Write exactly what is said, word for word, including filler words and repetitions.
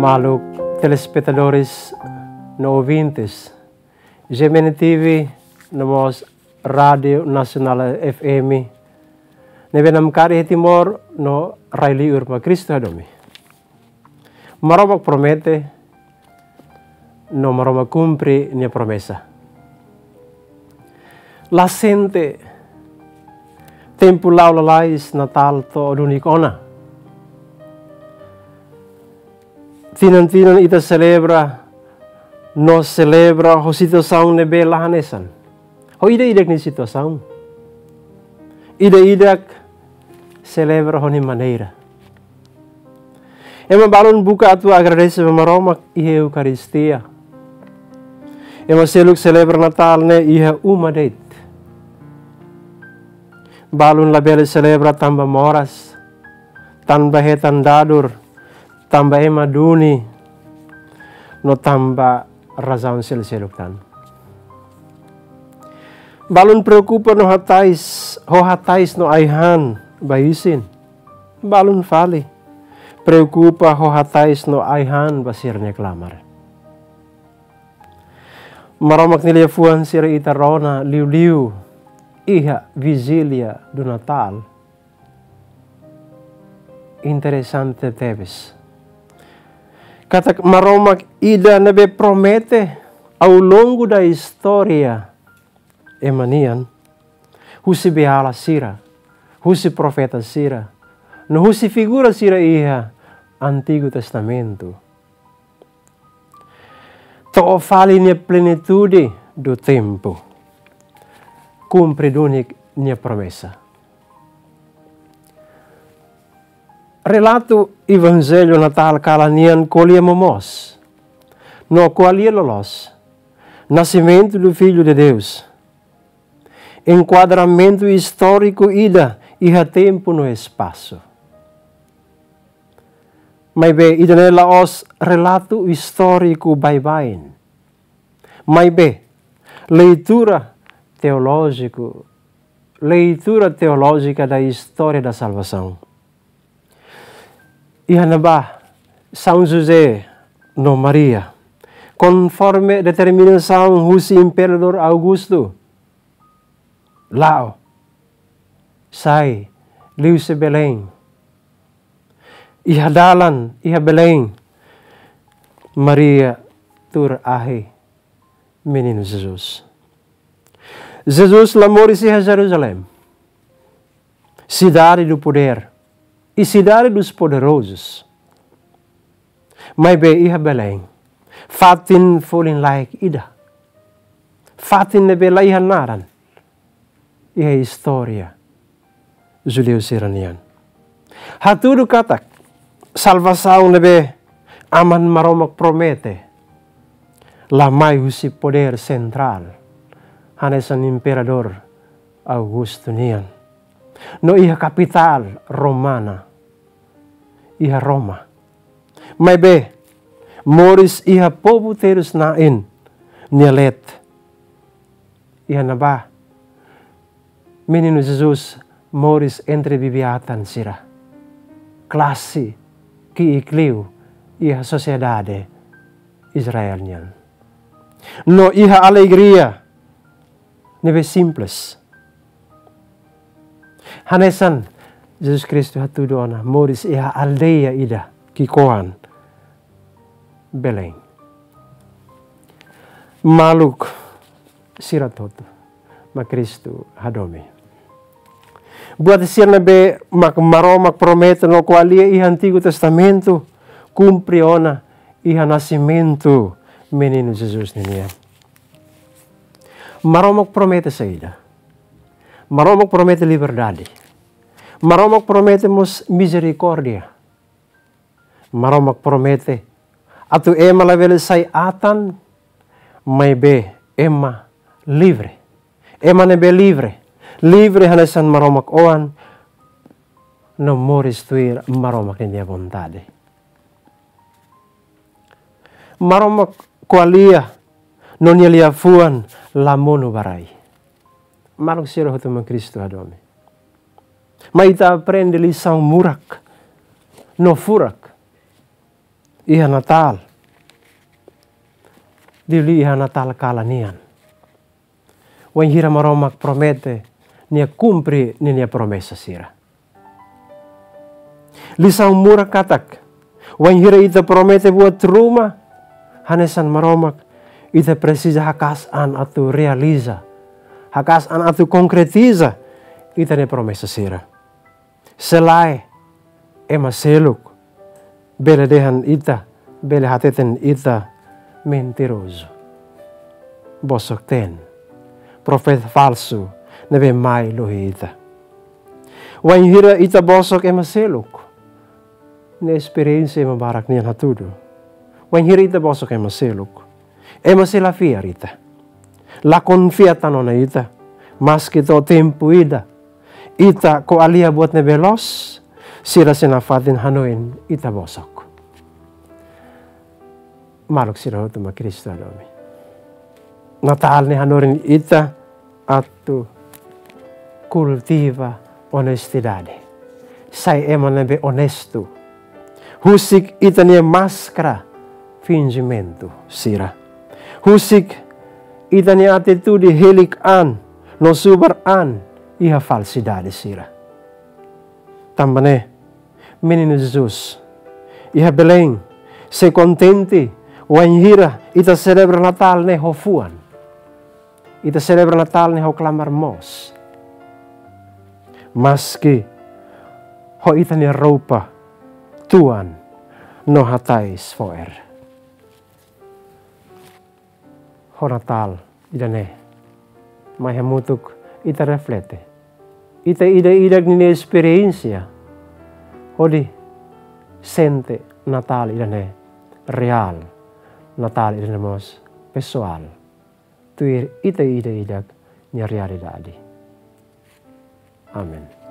Maluk telespetadores no ouvintes G M N T V no mós Rádiu Nasionál F M ne'ebé namkari iha Timor no rai liur mak Kristu hadomi. Maromak promete, no Maromak kumpre nia promesa. La sente tempu la'o lalais Natál to'o duni ona. Tinan-tinan ita selebra, no selebra ho situasaun ne'ebé la hanesan. Ho ida-idak nia situasaun. Ida-idak selebra ho nia maneira. Ema balun buka atu agradese ba Maromak iha Eukaristia. Ema seluk selebra Natál ne'e iha uma de'it. Balun labele selebra tanba moras, tanba hetan dadur, tanba ema duni, no tanba razaun seluk-seluk tan. Balun preokupa no hatais, ho hatais no ai-han ba isin. Balun fali preokupa ho hatais no ai-han ba sira-nia klamar. Maromak nia liafuan sira ita rona liuliu iha Vigília do Natal. Interesante tebes. Katak Maromak ida ne'ebé promete ao longo da istória ema nian, husi beiala sira, husi profeta sira, no husi figura sira iha Antigu Testamentu. To'o fali nia plenitude do tempo. Kumpre duni nia promesa. Relatu Evanjellu Natál kalan nian ko'alia momoos, no ko'alia loloos, Nascimento do Filho de Deus. Enkuadramentu istóriku ida iha tempu no espasu. Maibé ida-ne'e la'ós relatu istóriku baibain. Maibé leitura teolójiku, leitura teolójika da istória da salvasaun. Iha ne'ebá São José no Maria, konforme determinasaun husi Imperadór Augusto, la'o, sai, liuhusi Belém. Iha dalan, iha Belém, Maria tuur ahi Meninu Jesus. Jesus la moris iha Jerusalém, cidade do poder e cidade dos poderosos. Maibé iha Belém, fatin folin-laek ida. Fatin ne'ebé la iha naran iha istória judeu sira-nian. Hatudu katak salvasaun ne'ebé Aman Maromak promete la mai husi podér sentrál, hanesan Imperadór Augusto nian, no iha kapitál romana, iha Roma. Maibé, moris iha povu terus-na'in nia leet. Iha ne'ebá Meninu Jesus moris entre bibi-atan sira, klase ki'ik liu iha sosiedade Israel nian. No iha alegria ne'ebé simples. Hanesan Jesus Kristu hatudu ona moris iha aldeia ida ki'ikoan, Belém. Maluk sira hotu mak Kristu hadomi. Buat sira ne'ebé mak Maromak promete no ko'alia iha Antigu Testamentu, kumpre ona iha nasimentu Meninu Jesus ninian. Maromak promete saida? Maromak promete liberdade. Maromak promete mós mizerikórdia. Maromak promete atu ema labele sai atan, maibé ema livre. Ema ne'ebé livre, livre hanesan Maromak Oan, no moris tuir Maromak ninia vontade. Maromak ko'alia no nia liafuan la monu ba rai. Maluk sira hotu mak Kristu hadomi. Mai ita aprende lisaun murak no furak. iha Natál, liuliu iha Natál kalan nian. Wainhira Maromak promete, Nia kumpre ninia promesa sira. Lisaun murak katak, wainhira ita promete buat ruma hanesan Maromak, ita presiza haka'as an atu realiza, haka'as an atu konkretiza ita-nia promesa sira. Se lae, ema seluk bele dehan ita, bele hateten ita mentirozu. Bosok-teen, profeta falsu ne'ebé mai lohi ita. Wainhira ita bosok ema seluk, ne'e esperiénsia ema barak nian hatudu. Wainhira ita bosok ema seluk, ema sei la fiar ita, la konfia tan ona ita, maski to'o tempu ida ita ko'alia buat ne'ebé loos, sira sei nafatin hanoin ita bosok. Maluk sira hotu mak Kristu hadomi, Natál ne'e hanorin ita atu kultiva onestidade. Sai ema ne'ebé onestu. Husik ita-nia máskara finjimentu sira. Husik ita-nia atitude helik an no subar an iha falsidade sira. Tanba ne'e, Meninu Jesus iha Belém sei kontente wainhira ita selebra Natál ne'e ho fuan. Ita selebra Natál ne'e ho klamar moos. Maski ho ita-nia roupa tuan no hatais fo'er. Ho Natál ida-ne'e, mai hamutuk ita reflete ita ida-idak ninia esperiénsia hodi sente Natál ida-ne'e reál, Natál ida-ne'e mós pesoál, tuir ita ida-idak nia realidade. Amen.